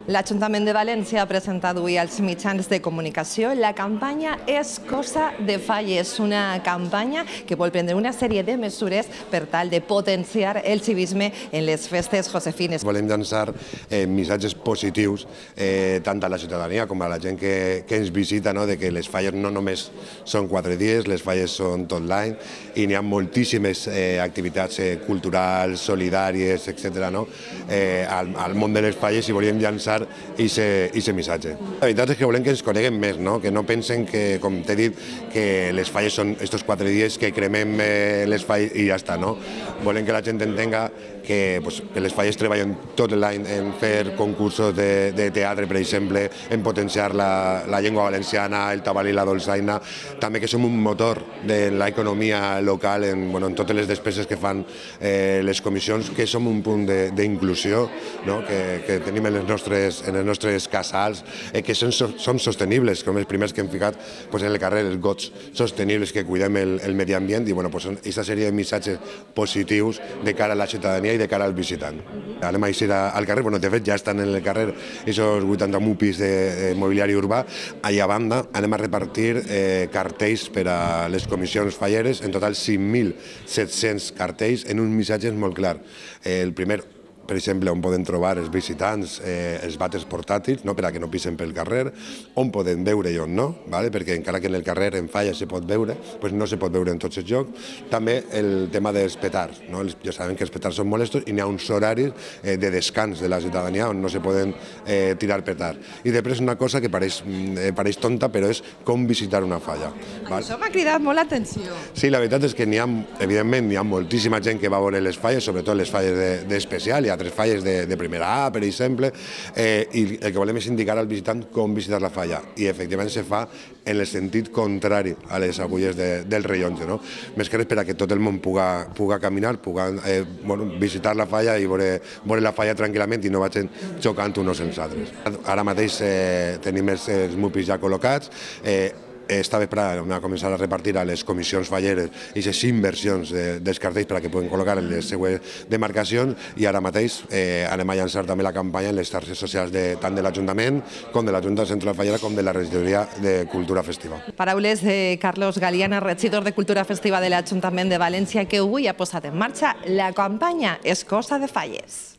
L'Ajuntament de València ha presentat avui als mitjans de comunicació la campanya És cosa de falles, una campanya que vol prendre una sèrie de mesures per tal de potenciar el civisme en les festes josefines. Volem llançar missatges positius tant a la ciutadania com a la gent que ens visita, de que les falles no només són 4 dies, les falles són tot l'any i n'hi ha moltíssimes activitats culturals, solidàries, etc. Al món de les falles i volíem llançar aquest missatge. La veritat és que volem que ens coneguen més, que no pensen que, com t'he dit, que les falles són estos 4 dies que cremem les falles i ja està. Volem que la gent entenga que les falles treballen tot l'any en fer concursos de teatre, per exemple, en potenciar la llengua valenciana, el tabal i la dolçaina, també que som un motor de l'economia local en totes les despeses que fan les comissions, que som un punt d'inclusió que tenim en els nostres casals, que som sostenibles, com els primers que hem ficat en el carrer, els gots sostenibles, que cuidem el medi ambient i aquesta sèrie de missatges positius de cara a la ciutadania i de cara al visitant. Anem a eixir al carrer, de fet ja estan en el carrer aquests 80 mupis de mobiliari urbà. Allà a banda anem a repartir cartells per a les comissions falleres, en total 5.700 cartells en uns missatges molt clars. El primer, per exemple, on poden trobar els visitants els vàters portàtils per a que no pisen pel carrer, on poden veure i on no, perquè encara que en el carrer en falla se pot veure, no se pot veure en tots els llocs. També el tema dels petards. Ja sabem que els petards són molestos i n'hi ha uns horaris de descans de la ciutadania on no se poden tirar petards. I després una cosa que pareix tonta, però és com visitar una falla. Això m'ha cridat molt l'atenció. Sí, la veritat és que evidentment hi ha moltíssima gent que va veure les falles, sobretot les falles d'especial, hi ha 3 falles de primera A, per exemple, i el que volem és indicar al visitant com visitar la falla, i efectivament se fa en el sentit contrari a les agulles del rellotge. Més que res per a que tot el món puga caminar, puga visitar la falla i veure la falla tranquil·lament i no vagin xocant uns als altres. Ara mateix tenim els mupis ja col·locats. Esta vesprada vam començar a repartir a les comissions falleres aquestes inversions dels cartells per a que puguen col·locar en les seues demarcacions, i ara mateix anem a llançar també la campanya en les xarxes socials tant de l'Ajuntament com de la Junta Central Fallera com de la Regidoria de Cultura Festiva. Paraules de Carlos Galiana, regidor de Cultura Festiva de l'Ajuntament de València, que avui ha posat en marxa la campanya És cosa de falles.